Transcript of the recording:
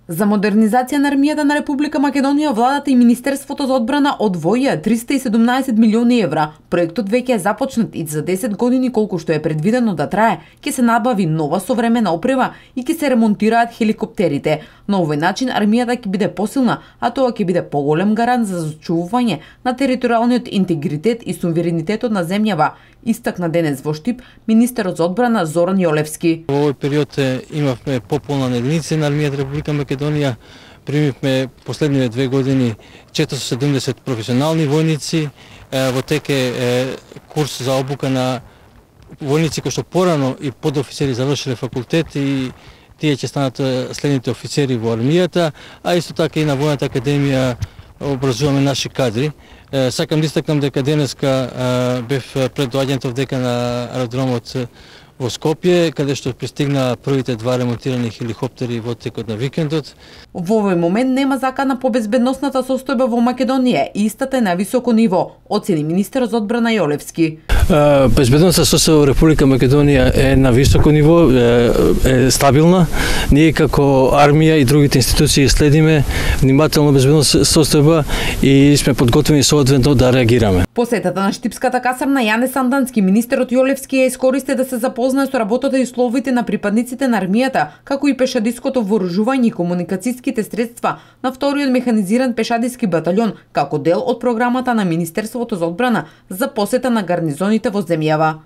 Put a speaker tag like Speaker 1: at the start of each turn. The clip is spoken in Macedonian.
Speaker 1: За модернизација на армијата на Република Македонија, владата и Министерството за одбрана одвоија 317 милиони евра. Проектот веќе е започнат и за 10 години колку што е предвидено да трае, ќе се набави нова современа опрема и ќе се ремонтираат хеликоптерите. На овој начин армијата ќе биде посилна, а тоа ќе биде поголем гарант за зачувување на територијалниот интегритет и суверенитетот на земјава, истакна денес во Штип министерот за одбрана Зоран Јолевски.
Speaker 2: Во овој период имавме пополна единици на армијата Република Македонија. Примивме последниве 2 години 470 професионални војници. Во тек е курс за обука на војници кои што порано и подофицери завршиле факултет и тие ќе станат следните офицери во армијата, а исто така и на Војната академија образуваме наши кадри. Сакам да истакнам дека денеска бев пред доаѓањето дека на аеродромот во Скопје, каде што пристигна првите 2 ремонтирани хеликоптери во текот на викендот.
Speaker 1: Во овој момент нема закана по безбедносната состојба во Македонија и истата е на високо ниво, оцени министерот за одбрана Јолевски.
Speaker 2: Безбедносната состојба во Република Македонија е на високо ниво, е стабилна. Ние како армија и другите институции следиме внимателно безбедносната состојба и сме подготвени соодветно да реагираме.
Speaker 1: Посетата на Штипската касарна Јане Сандански, министерот Јолевски ја искористи да се запознае со работата и условите на припадниците на армијата, како и пешадиското вооружување и комуникацијските средства на вториот механизиран пешадиски батальон, како дел од програмата на Министерството за одбрана за посета на гарнизоните во земјава.